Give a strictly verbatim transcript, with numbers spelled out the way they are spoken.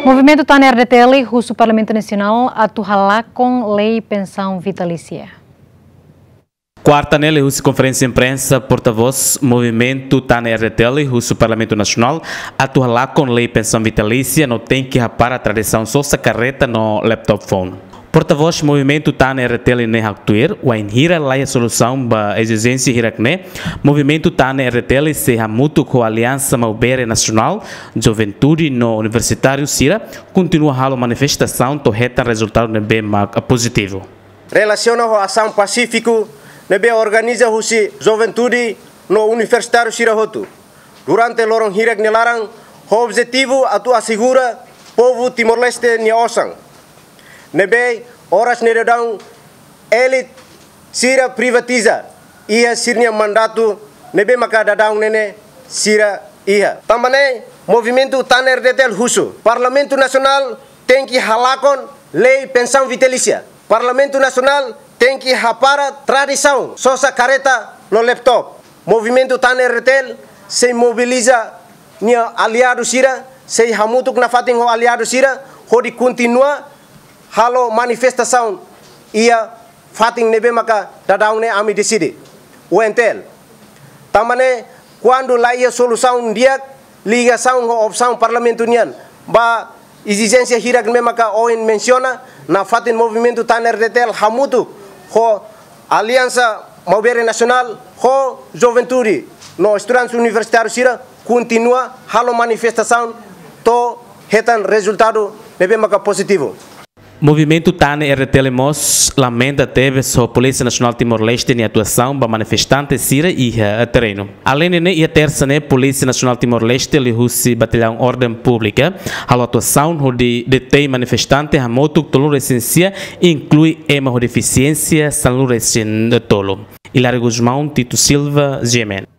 Movimentu Tan RDTL husu Parlamentu Nasionál atu halakon lei pensaun vitalísia. Kuarta ne'e liuhusi konferénsia imprensa, portavós Movimentu Tan RDTL husu Parlamentu Nasionál atu halakon lei pensaun vitalísia no tenke hapara tradisaun sosa karreta no laptop phone. Portavós Movimentu Tan RDTL ne'e haktuir, wainhira laiha solusaun ba ezijénsia hirak ne'e, Movimentu Tan RDTL sei hamutuk ho Aliansa Maubere Nasionál, Juventude no Universitáriu sira, kontinua halo manifestasaun to'o hetan rezultadu ne'ebé mak pozitivu. Relasiona ho asaun pasífiku ne'ebé organiza husi Juventude no Universitáriu sira hotu durante loron hirak nia laran, ho objetivu atu asegura povu Timor-Leste nia osan, ne'ebé oras ne'e daudaun elite sira privatiza iha sira-nia mandatu ne'ebé maka daudaun ne'e sira iha. Tanba ne'e, Movimentu Tan RDTL husu Parlamentu Nasionál tenke halakon lei pensaun vitalísia. Parlamentu Nasionál tenke hapara tradisaun sosa karreta no laptop. Movimentu Tan RDTL sei mobiliza nia aliadu sira, sei hamutuk nafatin ho aliadu sira, hodi kontinua halo manifestasaun iha fatin ne'ebé maka daudaun ne'e ami deside, UNTL. Tanba ne'e, kuandu laiha solusaun di'ak, ligasaun ho opsaun Parlamentu nian ba ezijénsia hirak ne'ebé maka ohin mensiona, nafatin Movimentu Tan RDTL hamutuk ho Aliansa Maubere Nasionál, ho Juventude no estudantes universitáriu sira, kontinua halo manifestasaun to'o hetan rezultadu ne'ebé maka pozitivu. Movimentu Tan RDTL mós lamenta tebes ho Polísia Nasionál Timor-Leste nia atuasaun ba manifestante sira iha terrenu. Aleinde ne'e, iha tersa ne'e, Polísia Nasionál Timor-Leste liuhusi Batallaun Orden Públika halo atuasaun hodi detein manifestante hamutuk tolu resin sia, inklui ema ho defisiénsia sanulu resin tolu. Hilário Gusmão, Tito Silva, GMN.